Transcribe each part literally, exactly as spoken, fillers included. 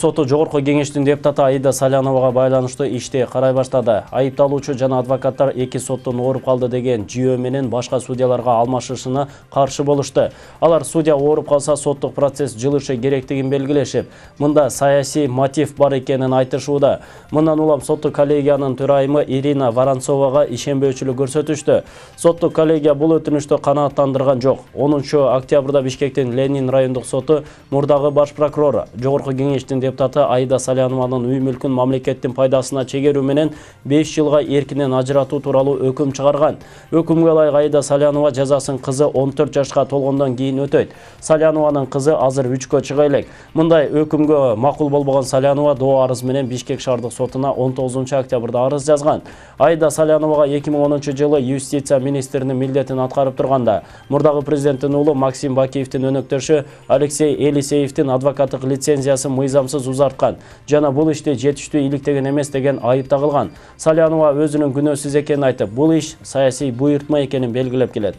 Соту Жогорку кеңештин депутаты Аида Саляновага байланыштуу ишти карай баштады. Айыпталуучу жана адвокаттар эки соттун ооруп калды деген жүйөө менен башка судьяларга алмашышына каршы болушту. Алар судья ооруп калса соттук процесс жылышы керектигин белгилешип, мында саясий мотив бар экенин айтышууда. Мындан улам соттук коллегиянын төрайымы Ирина Воронцовага ишенбөөчүлүк көрсөтүштү. Соттук коллегия бул өтүнүштү канааттандырган жок. онунчу октябрда Бишкектин Ленин райондук соту мурдагы баш прокурор Жогорку кеңештин депутаты Аида Салянованын үй мүлкүн мамлекеттин пайдасына чегерүү менен беш жылга эркинен ажыратуу тууралуу өкүм чыгарган. Өкүмгө ылайык Аида Салянова жазасын кызы он төрт жашка толгондон кийин өтөйт. Салянованын кызы азыр үчкө чыга элек. Мындай өкүмгө макул болбогон Салянова доо арыз менен Бишкек шаардык сотуна он тогузунчу октябрда арыз жазган. Аида Саляновага эки миң онунчу жылы юстиция министринин милдетин аткарып турганда, мурдагы президенттин уулу Максим Бакиевдин өнөктөшү Алексей Елисеевдин адвокаттык лицензиясын мыйзамсыз узарткан жана бул ишти жетиштүү иликтеген эмес деген айып тагылган. Салянова өзүнүн күнөөсүз экенин айтып, бул иш саясий буйртма экенин белгилеп келет.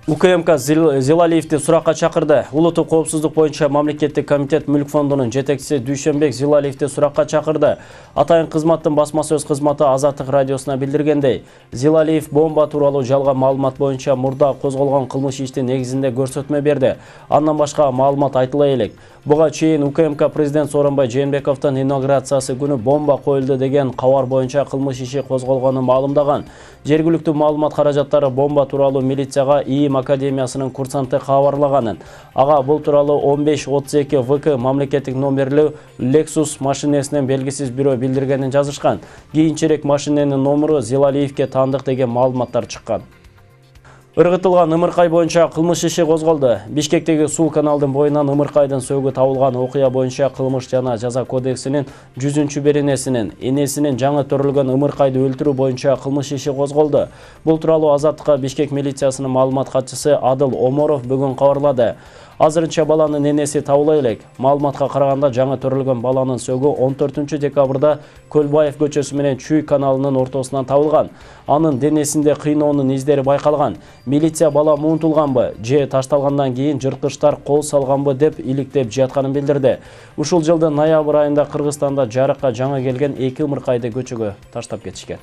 УКМК Зилалиевди суракка чакырды. Улуттук коопсуздук боюнча мамлекеттик комитет мүлк фондунун жетекчиси Дүйшөнбек Зилалиевди суракка чакырды. Атайын кызматтын басма сөз кызматы Азаттык радиосуна билдиргендей, Зилалиев бомба тууралуу жалган маалымат боюнча мурда козголгон кылмыш иштин негизинде көрсөтмө берди. Андан башка маалымат айтыла элек. Буга чейин УКМК президент Сооронбай Жээнбековдун инаугурациясы күнү бомба коюлду деген кабар боюнча кылмыш иши козголгонун маалымдаган. Жергиликтүү маалымат каражаттары бомба тууралуу милицияга ИИМ академиясынын курсанты кабарлаганын. Ага бул тууралуу он беш отуз эки В К мамлекеттик номерлүү Lexus машинесинен белгисиз бирөө билдиргенин жазышкан. Кийинчерээк машиненин номуру Зилалиевге таандык деген маалыматтар чыккан. Ыргытылган ымыркай боюнча кылмыш иши козголду. Бишкектеги Сул каналдын боюнан ымыркайдын сөгү табылган окуя боюнча кылмыш жана жаза кодексинин жүзүнчү беренесинин энесинин жаңы төрөлгөн ымыркайды өлтүрүү боюнча кылмыш иши козголду. Бул тууралуу Азаттыкка Бишкек милициясынын маалымат катчысы Адыл Оморов бүгүн кабарлады. Азырынча баланын энеси табыла элек. Маалыматка караганда жаңы төрөлгөн баланын сөгү он төртүнчү декабрда Көлбаев көчөсү менен Чүй каналынын ортосунан табылган. Анын денесинде кыйноонун издери байкалган. Милиция бала муунтулганбы же ташталгандан кийин жырткычтар кол салганбы деп иликтеп жатканын билдирди. Ушул жылдын ноябрь айында Кыргызстанда жарыкка жаңы келген эки ымыркайды көчөгө таштап кетишкен.